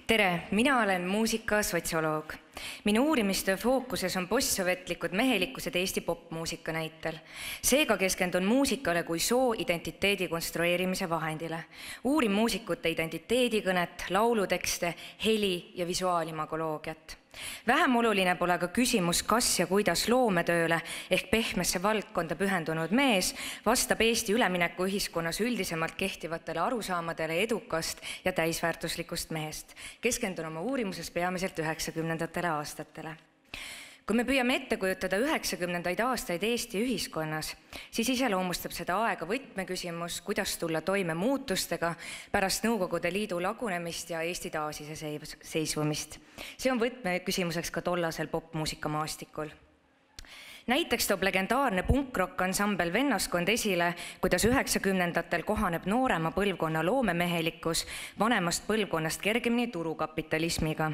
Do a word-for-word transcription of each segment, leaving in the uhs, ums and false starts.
Tere, mina olen muusika sotsioloog. Minu uurimistöö fookuses on postsovetlikud mehelikkused Eesti popmuusika näitel. Seega keskendun muusikale kui soo identiteedi konstrueerimise vahendile. Uurin muusikute identiteedikõnet, laulutekste, heli ja visuaalimagoloogiat. Vähem oluline pole ka küsimus, kas ja kuidas loometööle ehk pehmesse valdkonda pühendunud mees vastab Eesti ülemineku ühiskonnas üldisemalt kehtivatele arusaamadele edukast ja täisväärtuslikust mehest. Keskendun oma uurimuses peamiselt üheksakümnendatele aastatele. Kui me püüame ette kujutada üheksakümnendaid aastaid Eesti ühiskonnas, siis iseloomustab seda aega võtmeküsimus, kuidas tulla toime muutustega pärast Nõukogude Liidu lagunemist ja Eesti taasiseseisvumist. See on võtmeküsimuseks ka tollasel popmuusikamaastikul. Näiteks toob legendaarne punkrock ansambel Vennaskond esile, kuidas üheksakümnendatel kohaneb noorema põlvkonna loomemehelikkus vanemast põlvkonnast kergemini turukapitalismiga,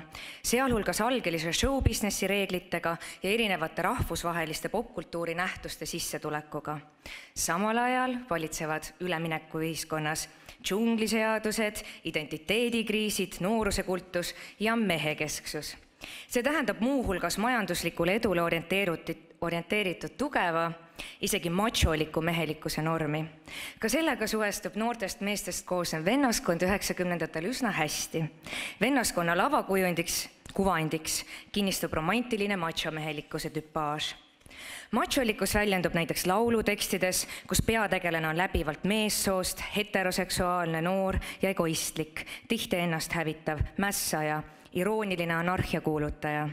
sealhulgas algelise showbusinessi reeglitega ja erinevate rahvusvaheliste popkultuuri nähtuste sissetulekuga. Samal ajal valitsevad ülemineku ühiskonnas džungliseadused, identiteedikriisid, noorusekultus ja mehekesksus. See tähendab muuhulgas majanduslikule edule orienteeritud tugeva, isegi macholiku mehelikkuse normi. Ka sellega suhestub noortest meestest koosnev Vennaskond üheksakümnendatel üsna hästi. Vennaskonna lavakujundiks, kuvandiks kinnistub romantiline machomehelikkuse tüpaaž. Macholikkus väljendub näiteks laulutekstides, kus peategelane on läbivalt meessoost, heteroseksuaalne, noor ja egoistlik, tihti ennast hävitav, mässaja, irooniline anarhiakuulutaja.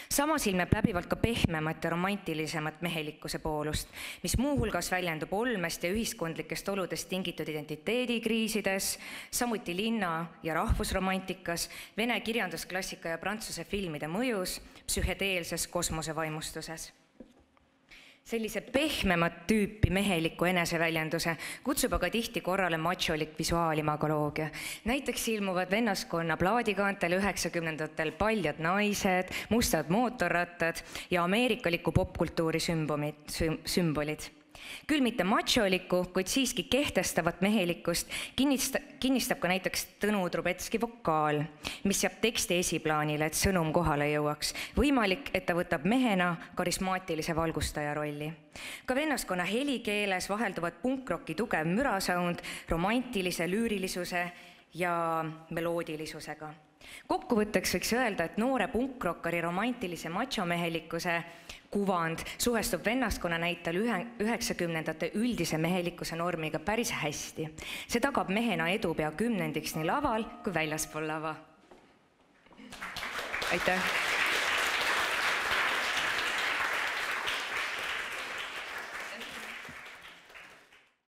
Samas ilmeb läbivalt ka pehmemat ja romantilisemat mehelikkuse poolust, mis muuhulgas väljendub olmest ja ühiskondlikest oludest tingitud identiteedikriisides, samuti linna- ja rahvusromantikas, vene kirjandusklassika ja prantsuse filmide mõjus, psühhedeelses kosmosevaimustuses. Sellise pehmemat tüüpi meheliku eneseväljenduse kutsub aga tihti korrale macholik visuaalimagoloogia. Näiteks ilmuvad Vennaskonna plaadikaantel üheksakümnendatel paljad naised, mustad mootorrattad ja ameerikaliku popkultuuri sümbolid. Küll mitte macholikku, kuid siiski kehtestavat mehelikkust kinnistab ka näiteks Tõnu Trubetski vokaal, mis jääb teksti esiplaanile, et sõnum kohale jõuaks. Võimalik, et ta võtab mehena karismaatilise valgustaja rolli. Ka Vennaskonna helikeeles vahelduvad punkrocki tugev mürasound romantilise lüürilisuse ja meloodilisusega. Kokkuvõtteks võiks öelda, et noore punkrokkari romantilise machomehelikkuse kuvand suhestub Vennaskonna näitel üheksakümnendate üldise mehelikkuse normiga päris hästi. See tagab mehena edu pea kümnendiks nii laval kui väljaspool lava. Aitäh!